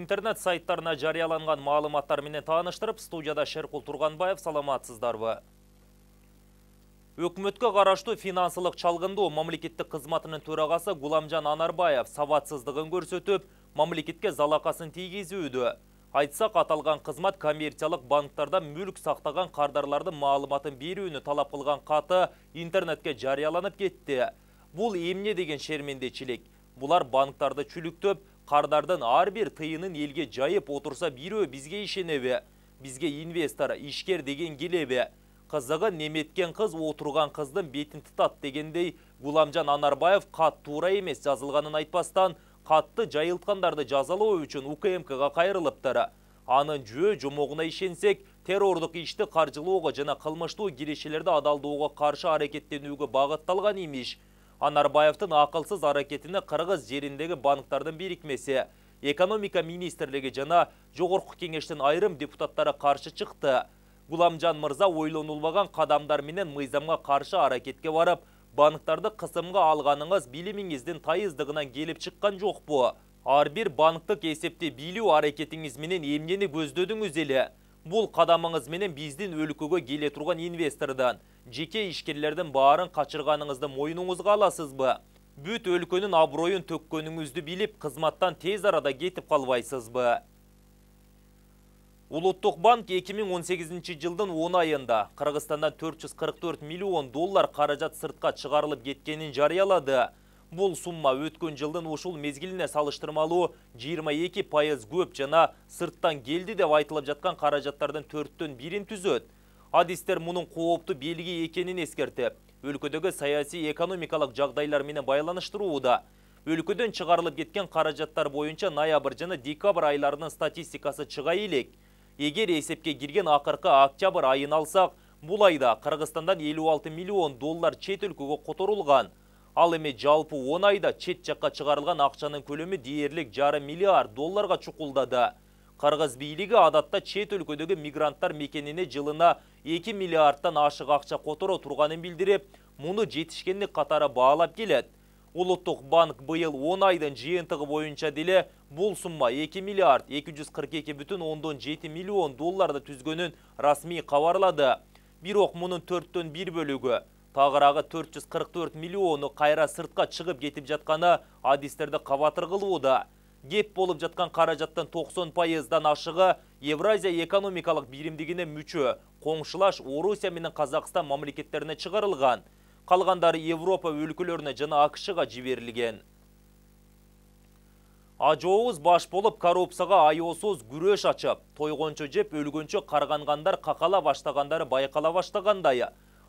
интернет сайттарына жарыяланган маалыматтар менен тааныштырып, студияда Шеркул Турганбаев, саламатсыздарбы? Өкмөткө караштуу финансылык чалгындоо мамлекеттик кызматынын төрагасы Гуламжан Анарбаев сабатсыздыгын көрсөтүп, мамлекетке залакасын тийгизүүдө. Айтсак, аталган кызмат коммерциялык банктарда мүлк сактаган кардарлардын маалыматын берүүнү талап кылган каты интернетке жарыяланып кетти. Бул эмне деген шермендечилик? Булар банктарды чүлүктөп, кардардын ар бир тыйынын элге жайып отурса, бирөө бизге ишенеби? Бизге инвестор, ишкер деген келеби? Кызыгы, неметкен кыз отурган кыздын бетин тытат дегендей, Гуламжан Анарбаев кат туура эмес жазылганын айтпастан, катты жайылткандарды жазалоо үчүн УКМКга кайрылыптыр. Анын жөө жомогуна ишенсек, террордук ишти каржылоого жана кылмыштуу кирешелерди адалдоого каршы аракеттенүүгө багытталган имиш. Анарбаевдин акылсыз аракетине Кыргыз жериндеги банктардын бирикмеси, экономика министрлиги жана Жогорку кеңештин айрым депутаттары каршы чыкты. Гуламжан мырза ойлонулбаган кадамдар менен мыйзамга каршы аракетке барып, банктарды кысымга алганыңыз билимиңиздин тайыздыгынан келип чыккан жокпу? Ар бир банктык эсепти билүү аракетиңиз менен эмнени көздөдүңүз эле? Бул кадамыңыз менен биздин өлкөгө келе турган инвестордон, жеке ишкерлердин баарын качырганыңызды мойнуңузга аласызбы? Бүт өлкөнүн аброюн төккөнүңүздү билип, кызматтан тез арада кетип калбайсызбы? Улуттук банк 2018 жылдын 10 айында Кыргызстандан 444 миллион доллар каражат сыртка чыгарылып кеткенин жарыялады. Бул сумма өткөн жылдын ушул мезгилине салыштырмалуу 22% көп жана сырттан келди деп айтылып жаткан каражаттардын 4төн 1-ин түзөт. Адистер мунун кооптуу белги экенин эскертип, өлкөдөгү саясий экономикалык жагдайлар менен байланыштырууда. Өлкөдөн чыгарылып кеткен каражаттар боюнча ноябрь жана декабрь айларынын статистикасы чыга элек. Эгер эсепке кирген акыркы октябрь айын алсак, бул айда Кыргызстандан 56 миллион доллар чет өлкөгө которулган. Ал эми жалпы 10 айда чет жакка чыгарылган акчанын көлөмү дээрлик $0,5 миллиард долларга чукулдады. Кыргыз бийлиги адатта чет өлкөдөгү мигранттар мекенине жылына 2 миллиардтан ашык акча которо турганын билдирип, муну жетишкендик катары баалап келет. Улуттук банк быйыл 10 айдын жыйынтыгы боюнча деле бул сумма 2 миллиард 242,7 миллион долларды түзгөнүн расмий кабарлады. Бирок мунун 4төн 1 бөлүгү, тагыраагы 444 миллиону кайра сыртка чыгып кетип жатканы адистерди кабатыр кылууда. Кеп болуп жаткан каражаттын 90%дан ашыгы Евразия экономикалык биримдигине мүчө коңшулаш Орусия менен Казакстан мамлекеттерине чыгарылган. Калгандары Европа өлкөлөрүнө жана АКШга жиберилген. Ажооз баш болуп коррупцияга аеосуз күрөш ачып, тойгончо жеп өлгөнчө каргангандар какала баштагандары байкала баштагандай.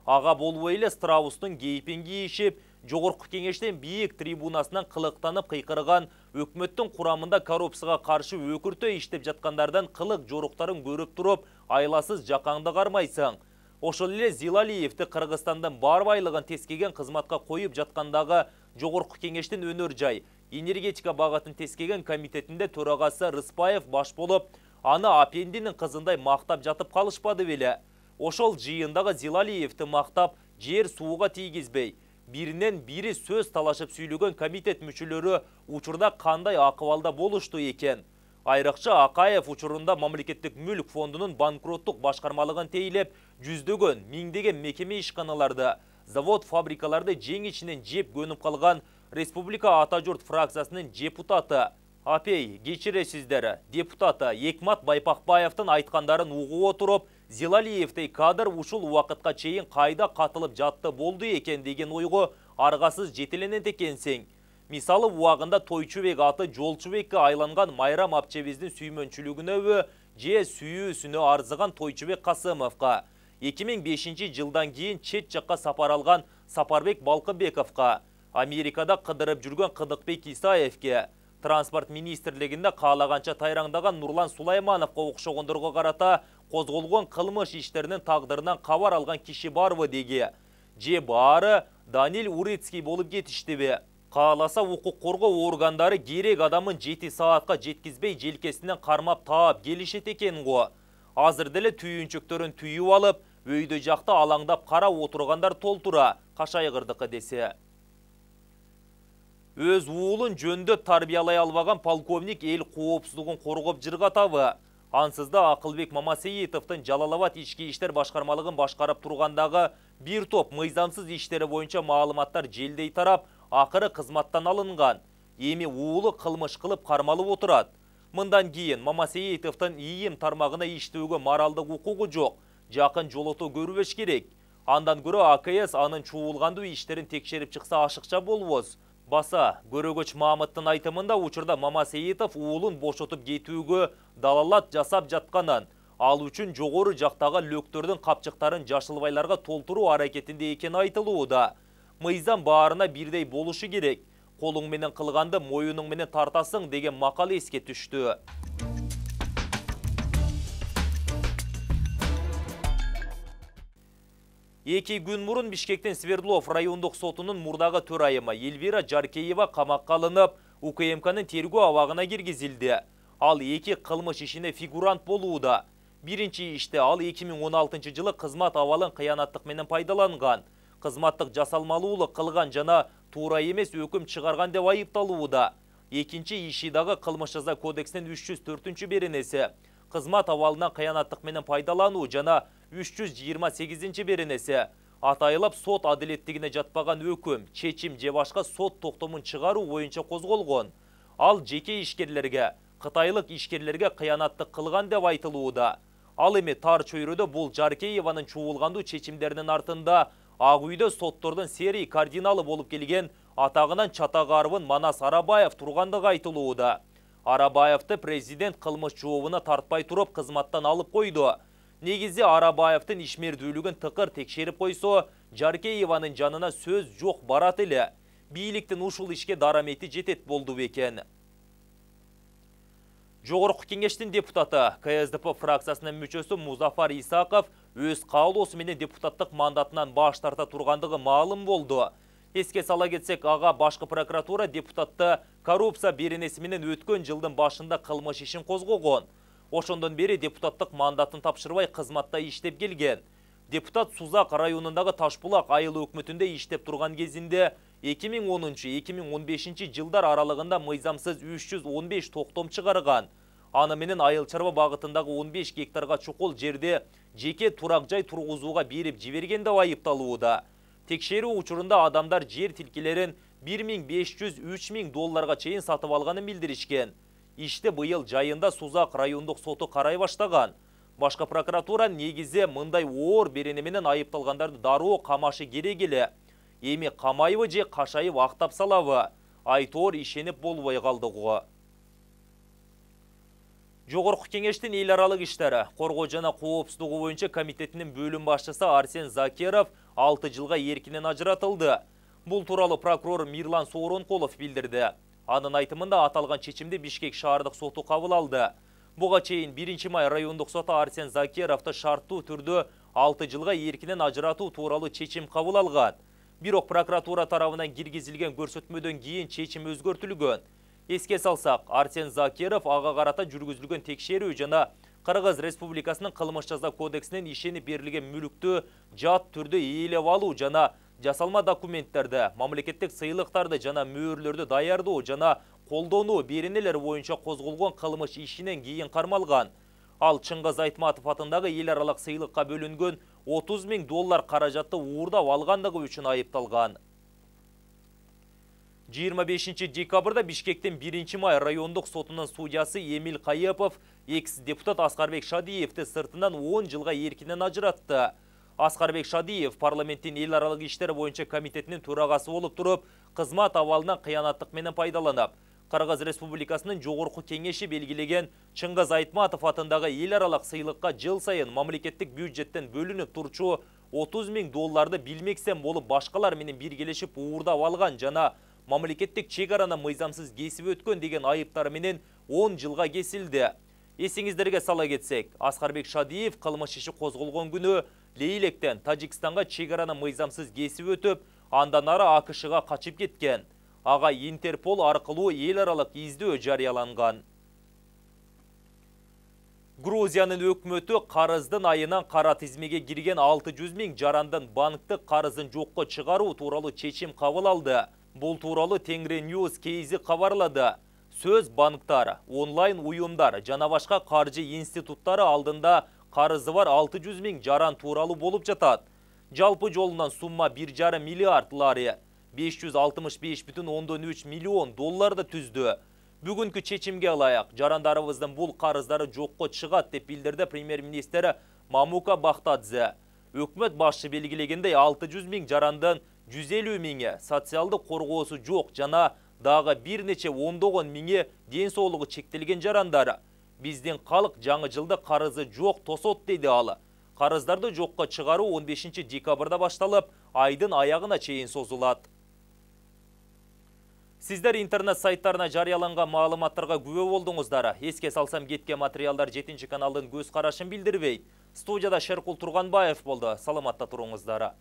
Ага болбой эле страустун кейпин кийишип, Жогорку кеңештин бийик трибунасынан кылыктанып кыйкырган өкмөттүн курамында коррупцияга каршы өкүртө иштеп жаткандардан кылык жоруктарын көрүп туруп, айласыз жакаңды кармайсың. Ошол эле Зилалиевди Кыргызстандын бар байлыгын тескеген кызматка коюп жаткандагы Жогорку кеңештин өнөр жай, энергетика багытын тескеген комитетинде төрагасы Рыспаев баш болуп, аны апендинин кызындай мактап жатып калышпады беле. Ошол жыйындагы Зилалиевди мактап, жер сууга тийгизбей, биринен бири сөз талашып сүйлөгөн комитет мүчөлөрү учурда кандай акыбалда болушту экен? Айрыкча Акаев учурунда мамлекеттик мүлк фондунун банкроттук башкармалыгын тейлеп, жүздөгөн, миңдеген мекеме ишканаларды, завод фабрикаларды жең ичинен жеп көнүп калган Республика Ата журт фракциясынын депутаты, апей, кечиресиздер, депутаты Экмат Байпакбаевдин айткандарын угуп отуруп, Зилалиевдей кадр ушул убакытка чейин кайда катылып жатты болду экен деген ойго аргасыз жетеленет экенсиң. Мисалы, убагында Тойчубек аты Жолчубекке айланган Майрам апчебиздин сүймөнчүлүгүнөбү же сүйүүсүнө арзыган Тойчубек Касымовго, 2005 жылдан кийин чет жакка сапар алган Сапарбек Балкыбековго, Америкада кыдырып жүргөн Кыдыкбек Исаевке, транспорт министрлигинде каалаганча тайраңдаган Нурлан Сулаймановго окшогондорго карата козголгон кылмыш иштеринин тагдырынан кабар алган киши барбы деги, же баары Данил Урицкий болуп кетиштиби? Кааласа укук коргоо органдары керек адамын 7 саатка жеткизбей желкесинен кармап таап келишет экен го. Азыр деле түйүнчөктөрүн түйүп алып, өйдө жакта алаңдап карап отургандар толтура, кашайгырдыкы десе. Өз уулун жөндөп тарбиялай албаган полковник эл коопсуздугун коргоп жыргатабы? Ансызда Акылбек Мамасейитовдун Жалал-Абад ички иштер башкармалыгын башкарып тургандагы бир топ мыйзамсыз иштери боюнча маалыматтар желдей тарап, акыры кызматтан алынган. Эми уулу кылмыш кылып кармалып отурат. Мындан кийин Мамасейитовдун ИИМ тармагына иштөөгө моралдык укугу жок. Жакын жолото көрбөш керек. Андан көрө АКС анын чуулгандуу иштерин текшерип чыкса ашыкча болбос. Баса, Көрөгөч Мамыттын айтымында учурда Мамасейитов уулун бошотуп кетүүгө далалат жасап жатканын, ал үчүн жогору жактагы лөктөрдүн капчыктарын жашылбайларга толтуруу аракетинде экени айтылууда. Мыйзам баарына бирдей болушу керек. Колуң менен кылганды моюнуң менен тартасың деген макал эске түштү. Эки күн мурун Бишкектин Свердлов райондук сотунун мурдагы төрайымы Эльвира Жаркеева камакка алынып, УКМКнын тергөө абагына киргизилди. Ал эки кылмыш ишине фигурант болууда. Биринчи иште ал 2016 жылы кызмат абалын кыянаттык менен пайдаланган, кызматтык жасалмалуулук кылган жана туура эмес өкүм чыгарган деп айыпталууда. Экинчи иши дагы кылмыш жаза кодексинин 304-беренеси, кызмат абалынан кыянаттык менен пайдалануу жана 328 беренеси, атайылап сот адилеттигине жатпаган өкүм, чечим же башка сот токтомун чыгаруу боюнча козголгон. Ал жеке ишкерлерге, кытайлык ишкерлерге кыянаттык кылган деп айтылууда. Ал эми тар чөйрөдө бул Жаркееванын чуулгандуу чечимдеринин артында Ак үйдө соттордун серий кардиналы болуп келген атагынан чатагарбын Манас Арабаев тургандыгы айтылууда. Арабаевди президент кылмыш жообуна тартпай туруп кызматтан алып койду. Негизи Арабаевдин ишмердүүлүгүн тыкыр текшерип койсо, Жаркееванын жанына сөз жок барат эле. Бийликтин ушул ишке дарамети жетет болду бекен. Жогорку кеңештин депутаты, КСДП фракциясынын мүчөсү Музафар Исаков өз каалоосу менен депутаттык мандатынан баш тарта тургандыгы маалым болду. Эске сала кетсек, ага башкы прокуратура депутатты коррупция беренеси менен өткөн жылдын башында кылмыш ишин козгогон. Ошондон бери депутаттык мандатын тапшырбай кызматта иштеп келген. Депутат Сузак районундагы Ташбулак айыл өкмөтүндө иштеп турган кезинде 2010-2015 жылдар аралыгында мыйзамсыз 315 токтом чыгарган. Аны менен айыл чарба багытындагы 15 гектарга чукул жерде жеке турак жай тургузууга берип жиберген деп айыпталууда. Текшерүү учурунда адамдар жер тилкелерин 1500-3000 долларга чейин сатып алганын билдиришкен. Иште быйыл жайында Сузак райондук соту карай баштаган. Башкы прокуратура негизи мындай оор берене менен айыпталгандарды дароо камашы керек эле. Эми камайбы же кашайып актап салабы? Айтоор ишенип болбой калдыгы. Жогорку кеңештин эл аралык иштери, коргоо жана коопсуздугу боюнча комитетинин бөлүм башчысы Арсен Закиров 6 жылга эркинен ажыратылды. Бул тууралуу прокурор Мирлан Сооронкулов билдирди. Анын айтымында аталган чечимди Бишкек шаардык соту кабыл алды. Буга чейин 1-май райондук соту Арсен Закировду шарттуу түрдө 6 жылга эркинен ажыратуу тууралуу чечим кабыл алган. Бирок прокуратура тарабынан киргизилген көрсөтмөдөн кийин чечим өзгөртүлгөн. Эске салсак, Арсен Закиров ага карата жүргүзүлгөн текшерүү жана Кыргыз Республикасынын кылмыш жаза кодексинин ишенип берилген мүлүктү жат түрдө ээлеп алуу жана жасалма документтерди, мамлекеттик сыйлыктарды жана мөөрлөрдү даярдоо жана колдонуу беренелер боюнча козголгон кылмыш ишинен кийин кармалган. Ал Чыңгыз Айтматов атындагы эл аралык сыйлыкка бөлүнгөн 30 000 доллар каражатты уурдап алгандыгы үчүн айыпталган. 25 декабрда Бишкектин 1-май райондук сотунун судьясы Эмил Кайыпов экс-депутат Аскарбек Шадиевди сыртынан 10 жылга эркинен ажыратты. Аскарбек Шадиев парламенттин эл аралык иштер боюнча комитетинин төрагасы болуп туруп, кызмат абалынан кыянаттык менен пайдаланып, Кыргыз Республикасынын жогорку кеңеши белгилеген Чыңгыз Айтматов атындагы эл аралык сыйлыкка жыл сайын мамлекеттик бюджеттен бөлүнүп турчу 30 000 долларды билмексен болуп башкалар менен биргелешип уурдап алган жана мамлекеттик чек араны мыйзамсыз кесип өткөн деген айыптары менен 10 жылга кесилди. Эсиңиздерге сала кетсек, Аскарбек Шадиев кылмыш иши козголгон күнү Лейлектен Тажикстанга чек араны мыйзамсыз кесип өтүп, андан ары АКШга качып кеткен. Ага Интерпол аркылуу эл аралык издөө жарыяланган. Грузиянын өкмөтү карыздын айынан кара тизмеге кирген 600 000 жарандын банктык карызын жокко чыгаруу тууралуу чечим кабыл алды. Бул тууралуу Тенгриньюз кейзи кабарлады. Сөз банктар, онлайн уюмдар жана башка каржы институттары алдында карызы бар 600 000 жаран тууралуу болуп жатат. Жалпы жолунан сумма 1,5 миллиард лари, 565,3 миллион долларды түздү. Бүгүнкү чечимге ылайык жарандарыбыздын бул карыздары жокко чыгат деп билдирди премьер-министр Мамука Бахтадзе. Өкмөт башчы белгилегендей 600 000 жарандын 150 000 социалдык коргоосу жок жана дагы бир нече ондогон миңи ден соолугу чектелген жарандар. Биздин калк жаңы жылды карызы жок тосот деди ал. Карыздарды жокко чыгаруу 15 декабрда башталып, айдын аягына чейин созулат. Сиздер интернет сайттарына жарыяланган маалыматтарга күбө болдуңуздар. Эске салсам, кеткен материалдар 7 каналдын көз карашын билдирбейт. Студияда Шеркул Турганбаев болду. Саламатта туруңуздар.